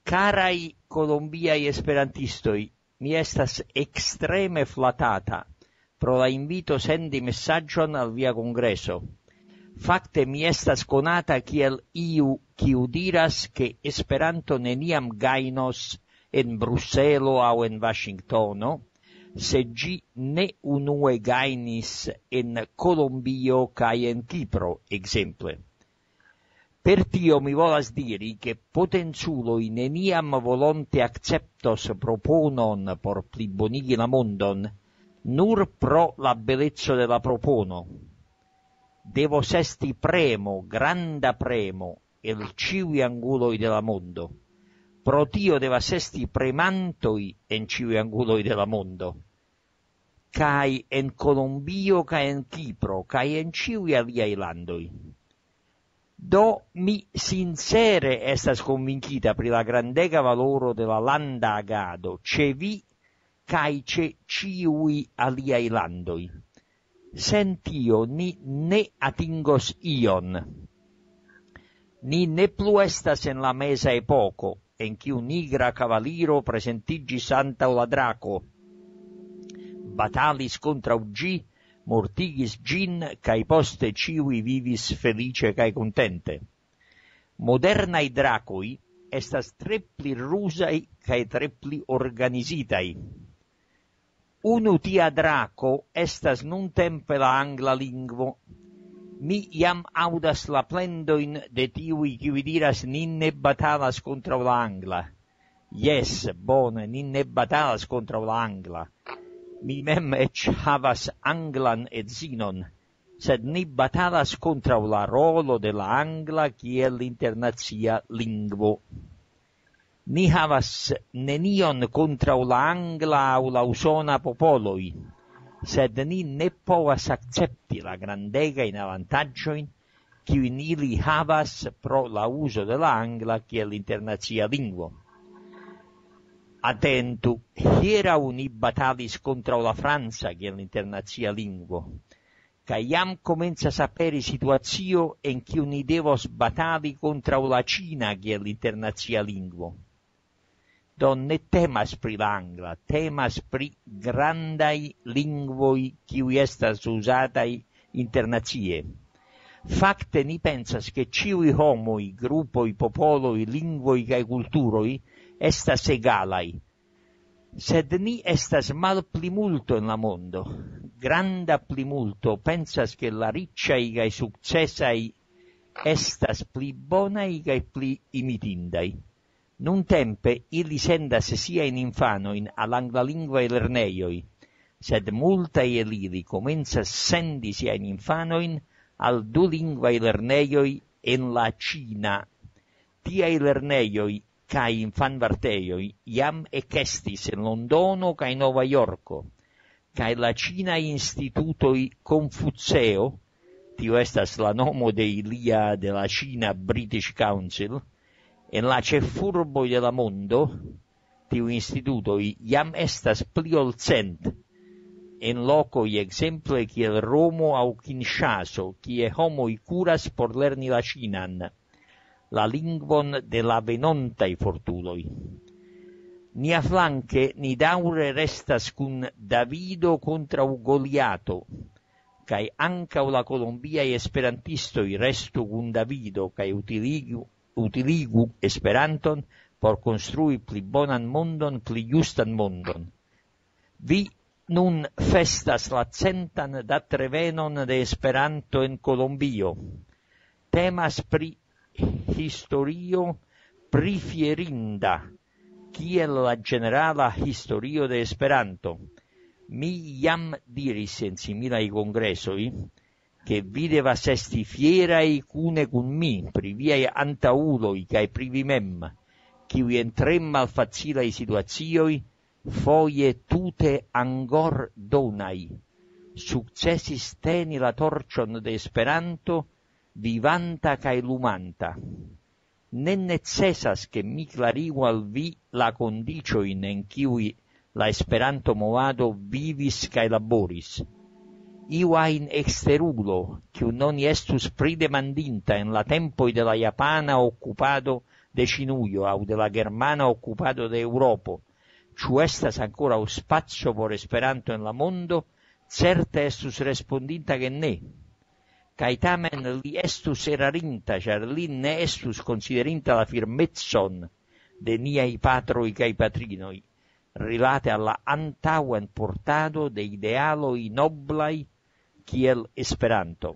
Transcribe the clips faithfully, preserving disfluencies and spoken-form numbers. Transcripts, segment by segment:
Karaj kolombiaj esperantistoj, mi estas ekstreme flatata pro la invito sendi mesaĝon al via kongreso. Fakte mi estas konata kiel iu, kiu diras, ke Esperanto neniam gajnos en Bruselo aŭ en Vaŝingtono, se ĝi ne unue gajnis en Kolombio kaj en Kipro, ekzemple. Per tio mi volas diri, ke potenculoj neniam volonte akceptos proponon por plibonigi la mondon, nur pro la beleco de la propono. Devos esti premo, granda premo, el ĉiuj anguloj de la mondo. Pro tio devas esti premantoj en ĉiuj anguloj de la mondo. Kaj en Kolombio, kaj en Kipro, kaj en ĉiuj aliaj landoj. Do, mi sincere estas konvinkita pri la grandega valoro de la landa agado ĉe vi kaj ĉe ĉiuj aliaj landoj. Sen tio ni ne atingos ion. Ni ne plu estas en la meza epoko, en kiu nigra kavaliro prezentiĝis antaŭ la drako, batalis kontraŭ ĝi, mortigis ĝin, kaj poste ĉiuj vivis feliĉe kaj kontente. Modernaj drakoj estas tre pli ruzaj kaj tre pli organizitaj. Unu tia drako estas nuntempe la angla lingvo. Mi jam aŭdas la plendojn de tiuj, kiuj diras: "Ni ne batalas kontraŭ la angla." Jes, bone, ni ne batalas kontraŭ la angla. Mi mem eĉ havas anglan edzinon, sed ni batalas kontraŭ la rolo de la angla kiel internacia lingvo. Ni havas nenion kontraŭ la angla aŭ la usona popoloj, sed ni ne povas akcepti la grandegajn avantaĝojn, kiujn ili havas pro la uzo de la angla kiel internacia lingvo. Atentu, hieraŭ ni batalis kontraŭ la franca kiel internacia lingvo, kaj jam komencas aperi situacio, en kiu ni devos batali kontraŭ la ĉina kiel internacia lingvo. Do, ne temas pri la angla, temas pri grandaj lingvoj, kiuj estas uzataj internacie. Fakte, ni pensas, ke ĉiuj homoj, grupoj, popoloj, lingvoj kaj kulturoj estas egalaj. Sed ni estas malplimulto en la mondo. Granda plimulto pensas, ke la riĉaj kaj sukcesaj estas pli bonaj kaj pli imitindaj. Nuntempe ili sendas siajn infanojn al anglalingvaj lernejoj, sed multaj el ili komencas sendi siajn infanojn al dulingvaj lernejoj en la ĉina. Tiaj lernejoj kaj infanvartejoj jam ekestis en Londono kaj Nova Jorko, kaj la ĉinaj institutoj Konfuceo, tio estas la nomo de ilia, de la ĉina British Council, en la ĉefurboj de la mondo, tiu institutoj jam estas pli ol cent, en lokoj ekzemple kiel Romo aŭ Kinŝaso, kie homoj kuras por lerni la ĉinan, la lingvon de la venontaj fortuloj. Niaflanke ni daŭre restas kun Davido kontraŭ Goliato, kaj ankaŭ la kolombiaj esperantistoj restu kun Davido kaj utiligu, utiligu Esperanton por konstrui pli bonan mondon, pli justan mondon. Vi nun festas la centan datrevenon de Esperanto en Kolombio. Temas pri historio prifierinda, kiel la ĝenerala historio de Esperanto. Mi jam diris en similaj kongresoj, ke vi devas esti fieraj kune kun mi pri viaj antaŭuloj kaj pri vi mem, kiuj en tre malfacilaj situacioj, foje tute angordonaj, sukcesis teni la torĉon de Esperanto, vivanta kaj lumanta. Ne necesas, ke mi klarigu al vi la kondiĉojn, en kiuj la Esperanto-movado vivis kaj laboris. Iu ajn eksterulo, kiu non estus pridemandinta en la tempoj de la japana okupado de Ĉinujo aŭ de la germana okupado de Eŭropo. Ĉu estas ankoraŭ spaco por Esperanto en la mondo? Certe estus respondinta ke ne. Kaj tamen li estus erarinta, ĉar li ne estus konsiderinta la firmecon de niaj patroj kaj patrinoj rilate al la antaŭenportado de idealoj noblaj kiel Esperanto.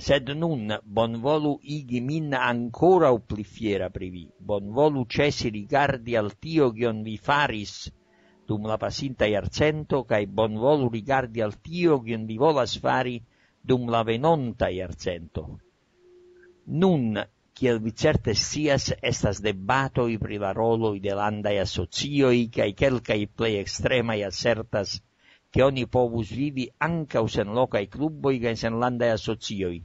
Sed nun bonvolu igi min ankoraŭ pli fiera pri vi. Bonvolu ĉesi rigardi al tio, kion vi faris dum la pasinta jarcento, kaj bonvolu rigardi al tio, kion vi volas fari dum la venonta jarcento. Nun, kiel vi certe scias, estas debatoj pri la roloj de landaj asocioj, kaj kelkaj plej ekstremaj asertas, ke oni povus vivi ankaŭ sen lokaj kluboj kaj sen landaj asocioj.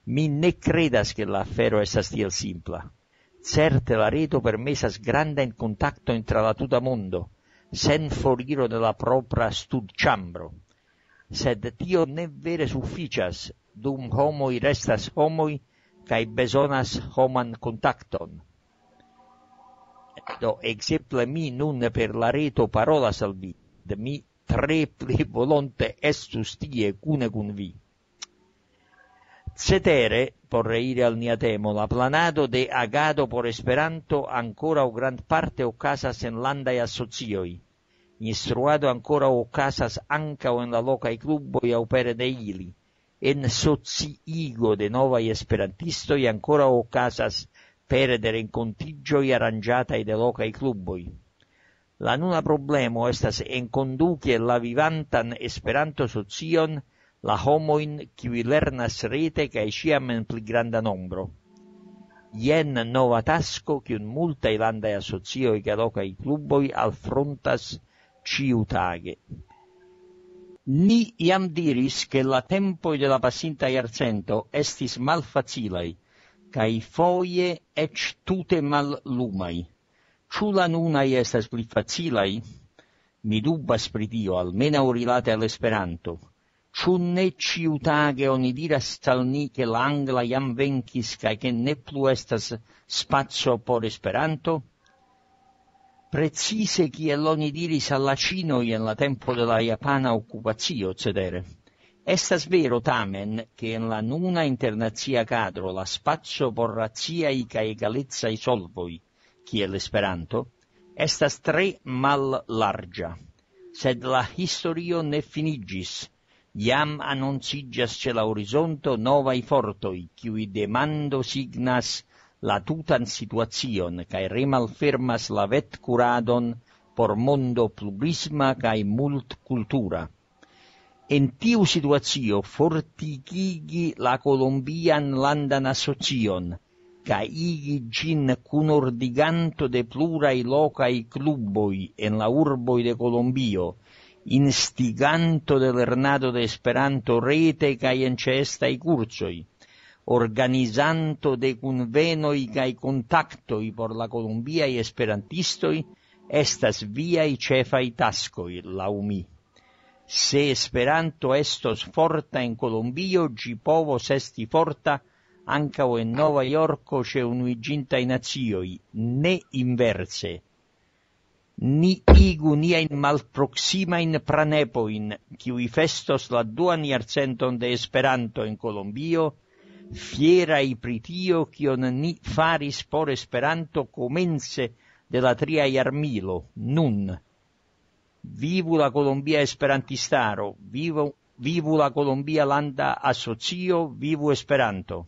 Mi ne kredas, ke la afero estas tiel simpla. Certe la reto permesas grandajn kontaktojn tra la tuta mondo, sen foriro de la propra studĉambro. Sed tio ne vere sufiĉas, dum homoj restas homoj kaj bezonas homan kontakton. Do, ekzemple, mi nun per la reto parolas al vi, de mi tre pli volonte estus tie kune kun vi. Cetere, por reiri al nia temo, la planado de agado por Esperanto ankoraŭ grandparte okazas en landaj asocioj. Instruado ankoraŭ okazas ankaŭ en la lokaj kluboj aŭ pere de ili. En sociigo de novaj esperantistoj ankoraŭ okazas pere de renkontiĝoj aranĝataj de lokaj kluboj. La nuna problemo estas enkonduki la vivantan Esperanto-socion la homojn, kiuj lernas rete kaj ĉiam en pli granda nombro. Jen nova tasko, kiun multaj landaj asocioj kaj lokaj kluboj alfrontas ĉiutage. Ni jam diris, ke la tempoj de la pasinta jarcento estis malfacilaj, kaj foje eĉ tute mallumaj. Ĉu la nunaj estas pli facilaj? Mi dubas pri tio, almenaŭ rilate al Esperanto. Ĉu ne ĉiutage oni diras al ni, ke la angla jam venkis kaj ke ne plu estas spaco por Esperanto? Precize kiel oni diris al la ĉinoj en la tempo de la japana okupacio, cetere. Estas vero tamen, ke en la nuna internacia kadro la spaco por raciaj kaj egalecaj solvoj, kiel Esperanto, estas tre mallarĝa. Sed la historio ne finiĝis. Jam anonciĝas ĉe la horizonto novaj fortoj, kiuj demando signas la tutan situacion kaj remalfermas la vetkuradon por mondo plurisma kaj multkultura. En tiu situacio fortikigi la Kolombian Landan Asocion kaj igi ĝin kunordiganto de pluraj lokaj kluboj en la urboj de Kolombio, instiganto de lernado de Esperanto rete kaj en ĉeestaj kursoj, organizanto de kunvenoj kaj kontaktoj por la kolombiaj esperantistoj estas viaj ĉefaj taskoj, laŭ mi. Se Esperanto estos forta en Kolombio, ĝi povos esti forta ankaŭ en Nova Jorko ĉe Unuiĝintaj Nacioj, ne inverse. Ni igu niajn malproksimajn pranepojn, kiuj festos la duan jarcenton de Esperanto en Kolombio, fieraj pri tio, kion ni faris por Esperanto komence de la tria jarmilo, nun. Vivu la Kolombia Esperantistaro, vivu, vivu la Kolombia Landa Asocio, vivu Esperanto!